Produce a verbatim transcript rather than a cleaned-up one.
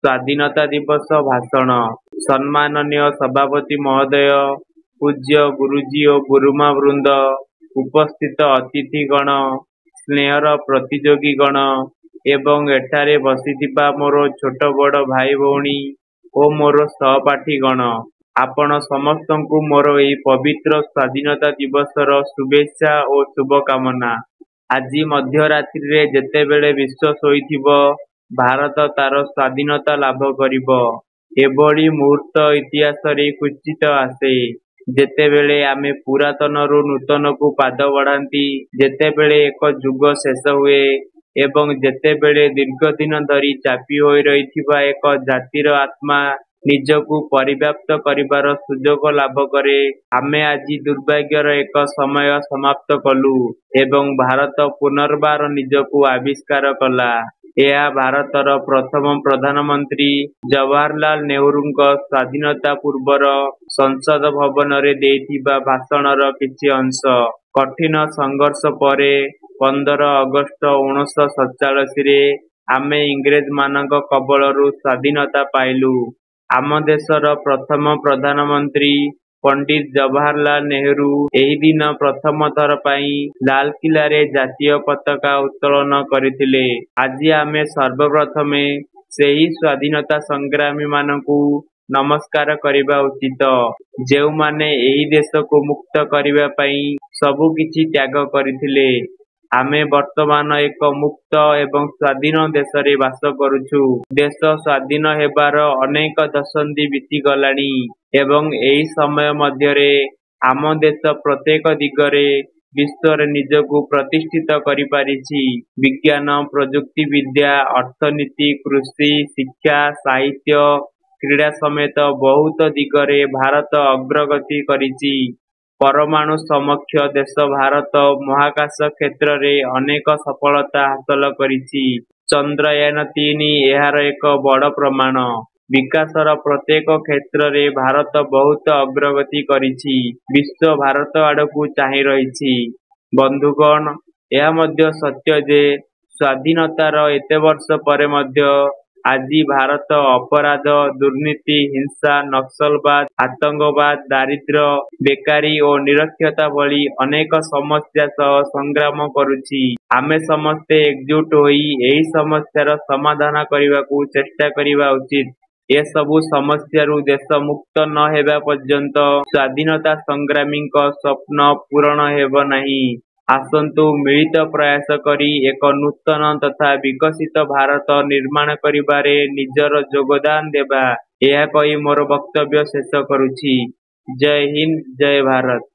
ସ୍ୱାଧୀନତା ଦିବସ ଭାଷଣ। ସମ୍ମାନନୀୟ ସଭାପତି ମହୋଦୟ, ପୂଜ୍ୟ ଗୁରୁଜୀ ଓ ଗୁରୁମା ବୃନ୍ଦ, ଉପସ୍ଥିତ ଅତିଥିଗଣ, ସ୍ନେହର ପ୍ରତିଯୋଗୀଗଣ ଏବଂ ଏଠାରେ ବସିଥିବା ମୋର ଛୋଟ ବଡ଼ ଭାଇ ଭଉଣୀ ଓ ମୋର ସହପାଠୀଗଣ, ଆପଣ ସମସ୍ତଙ୍କୁ ମୋର ଏହି ପବିତ୍ର ସ୍ୱାଧୀନତା ଦିବସର ଶୁଭେଚ୍ଛା ଓ ଶୁଭକାମନା। ଆଜି ମଧ୍ୟରାତ୍ରିରେ ଯେତେବେଳେ ବିଶ୍ୱ ଶୋଇଥିବ, ଭାରତ ତାର ସ୍ୱାଧୀନତା ଲାଭ କରିବ। ଏଭଳି ମୁହୂର୍ତ୍ତ ଇତିହାସରେ କ୍ୱଚିତ ଆସେ, ଯେତେବେଳେ ଆମେ ପୁରାତନରୁ ନୂତନକୁ ପାଦ ବଢ଼ାନ୍ତି, ଯେତେବେଳେ ଏକ ଯୁଗ ଶେଷ ହୁଏ ଏବଂ ଯେତେବେଳେ ଦୀର୍ଘଦିନ ଧରି ଚାପି ହୋଇ ରହିଥିବା ଏକ ଜାତିର ଆତ୍ମା ନିଜକୁ ପରିବ୍ୟାପ୍ତ କରିବାର ସୁଯୋଗ ଲାଭ କରେ। ଆମେ ଆଜି ଦୁର୍ଭାଗ୍ୟର ଏକ ସମୟ ସମାପ୍ତ କଲୁ ଏବଂ ଭାରତ ପୁନର୍ବାର ନିଜକୁ ଆବିଷ୍କାର କଲା। ଏହା ଭାରତର ପ୍ରଥମ ପ୍ରଧାନମନ୍ତ୍ରୀ ଜବାହରଲାଲ ନେହେରୁଙ୍କ ସ୍ୱାଧୀନତା ପୂର୍ବର ସଂସଦ ଭବନରେ ଦେଇଥିବା ଭାଷଣର କିଛି ଅଂଶ। କଠିନ ସଂଘର୍ଷ ପରେ ପନ୍ଦର ଅଗଷ୍ଟ ଉଣେଇଶହ ସତଚାଳିଶରେ ଆମେ ଇଂରେଜମାନଙ୍କ କବଳରୁ ସ୍ୱାଧୀନତା ପାଇଲୁ। ଆମ ଦେଶର ପ୍ରଥମ ପ୍ରଧାନମନ୍ତ୍ରୀ ପଣ୍ଡିତ ଜବାହରଲାଲ ନେହେରୁ ଏହି ଦିନ ପ୍ରଥମ ଥର ପାଇଁ ଲାଲକିଲ୍ଲାରେ ଜାତୀୟ ପତାକା ଉତ୍ତୋଳନ କରିଥିଲେ। ଆଜି ଆମେ ସର୍ବପ୍ରଥମେ ସେହି ସ୍ୱାଧୀନତା ସଂଗ୍ରାମୀମାନଙ୍କୁ ନମସ୍କାର କରିବା ଉଚିତ, ଯେଉଁମାନେ ଏହି ଦେଶକୁ ମୁକ୍ତ କରିବା ପାଇଁ ସବୁକିଛି ତ୍ୟାଗ କରିଥିଲେ। ଆମେ ବର୍ତ୍ତମାନ ଏକ ମୁକ୍ତ ଏବଂ ସ୍ୱାଧୀନ ଦେଶରେ ବାସ କରୁଛୁ। ଦେଶ ସ୍ୱାଧୀନ ହେବାର ଅନେକ ଦଶନ୍ଧି ବିତିଗଲାଣି ଏବଂ ଏହି ସମୟ ମଧ୍ୟରେ ଆମ ଦେଶ ପ୍ରତ୍ୟେକ ଦିଗରେ ବିଶ୍ୱରେ ନିଜକୁ ପ୍ରତିଷ୍ଠିତ କରିପାରିଛି। ବିଜ୍ଞାନ, ପ୍ରଯୁକ୍ତିବିଦ୍ୟା, ଅର୍ଥନୀତି, କୃଷି, ଶିକ୍ଷା, ସାହିତ୍ୟ, କ୍ରୀଡ଼ା ସମେତ ବହୁତ ଦିଗରେ ଭାରତ ଅଗ୍ରଗତି କରିଛି। ପରମାଣୁ ସକ୍ଷମ ଦେଶ ଭାରତ ମହାକାଶ କ୍ଷେତ୍ରରେ ଅନେକ ସଫଳତା ହାସଲ କରିଛି। ଚନ୍ଦ୍ରୟାନ ତିନି ଏହାର ଏକ ବଡ଼ ପ୍ରମାଣ। ବିକାଶର ପ୍ରତ୍ୟେକ କ୍ଷେତ୍ରରେ ଭାରତ ବହୁତ ଅଗ୍ରଗତି କରିଛି। ବିଶ୍ୱ ଭାରତ ଆଡ଼କୁ ଚାହିଁ ରହିଛି। ବନ୍ଧୁଗଣ, ଏହା ମଧ୍ୟ ସତ୍ୟ ଯେ ସ୍ୱାଧୀନତାର ଏତେ ବର୍ଷ ପରେ ମଧ୍ୟ ଆଜି ଭାରତ ଅପରାଧ, ଦୁର୍ନୀତି, ହିଂସା, ନକ୍ସଲବାଦ, ଆତଙ୍କବାଦ, ଦାରିଦ୍ର୍ୟ, ବେକାରୀ ଓ ନିରକ୍ଷରତା ଭଳି ଅନେକ ସମସ୍ୟା ସହ ସଂଗ୍ରାମ କରୁଛି। ଆମେ ସମସ୍ତେ ଏକଜୁଟ ହୋଇ ଏହି ସମସ୍ୟାର ସମାଧାନ କରିବାକୁ ଚେଷ୍ଟା କରିବା ଉଚିତ। ଏସବୁ ସମସ୍ୟାରୁ ଦେଶ ମୁକ୍ତ ନ ହେବା ପର୍ଯ୍ୟନ୍ତ ସ୍ୱାଧୀନତା ସଂଗ୍ରାମୀଙ୍କ ସ୍ୱପ୍ନ ପୂରଣ ହେବ ନାହିଁ। ଆସନ୍ତୁ ମିଳିତ ପ୍ରୟାସ କରି ଏକ ନୂତନ ତଥା ବିକଶିତ ଭାରତ ନିର୍ମାଣ କରିବାରେ ନିଜର ଯୋଗଦାନ ଦେବା। ଏହା କହି ମୋର ବକ୍ତବ୍ୟ ଶେଷ କରୁଛି। ଜୟ ହିନ୍ଦ, ଜୟ ଭାରତ।